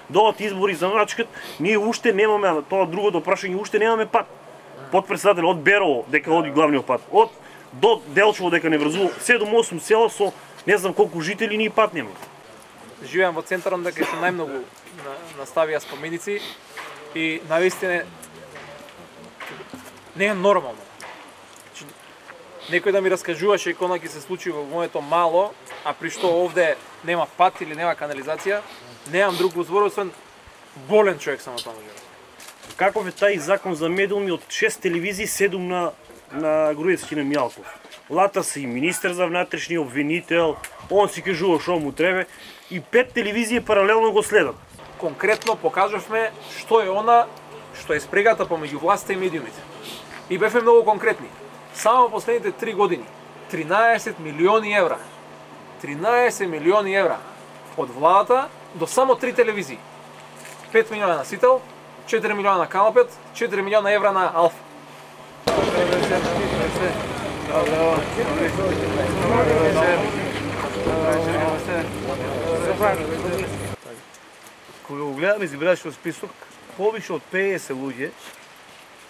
Доаѓаат избори за начкат, ние уште немаме тоа другото прашање, уште немаме пат. Подпредседател од Берово, дека оди главниот пат, од до Делчево дека не врзува 7-8 села со не знам колку жители, ние пат немаме. Живеам во центарот дека се најмногу наставија споменици и навистина не е нормално. Некој да ми раскажуваше кога ќе се случи во моето мало, а при што овде нема пат или нема канализација, немам друг збор освен болен човек сам на тоа може. Каков е тај закон за медиуми од 6 телевизии, 7 на Груевски на Мјалков. Лата се и министер за внатрешни, обвинител, он си кажува што му треба и 5 телевизии паралелно го следат. Конкретно покажавме што е она што е спрегата помеѓу власта и медиумите. И бевме многу конкретни. Само последните 3 години 13 милиони евра. 13 милиони евра од владата до само 3 телевизии. 5 милиона на Сител, 4 милиона на Канал 5, 4 милиона евра на Алфа. Кога го гледаме избирачкиот список, повише од 50 луѓе,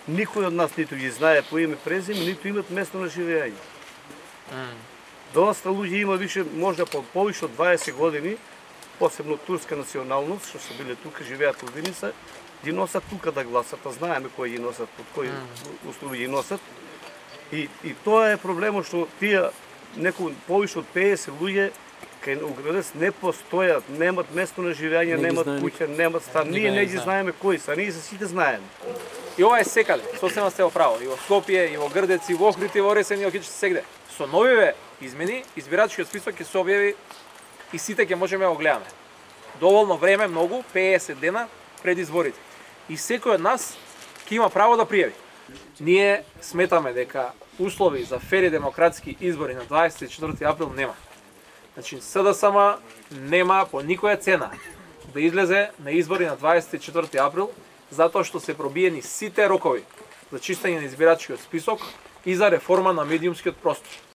никој од нас ниту ги знае по име презиме, ниту имат место на живење. Доста луѓе има више, можда повише од 20 години, посебно турска националност, што се биле тука, живеат во Виница, ги носат тука да гласат, а знаеме кои ги носат, под кои услови ги носат. И тоа е проблемот што тие некој повише од 50 луѓе кај Оградец не постојат, немат место на живење, немат куќа, немат стан. Ние не ги знаеме кои се, ние се сите знаеме. И ова е секаде, сосема сте во право, и во Скопје, и во Грдец, и во Охрид, и во Ресен, и во Киче сегде. Со новиве измени, избирачкиот список ќе се објави и сите ќе можеме да го гледаме. Доволно време, многу, 50 дена пред изборите. И секој од нас ќе има право да пријави. Ние сметаме дека услови за фери демократски избори на 24 април нема. Значи, СДСМ нема по никоја цена да излезе на избори на 24 април, затоа што се пробиени сите рокови за чистење на избирачкиот список и за реформа на медиумскиот простор.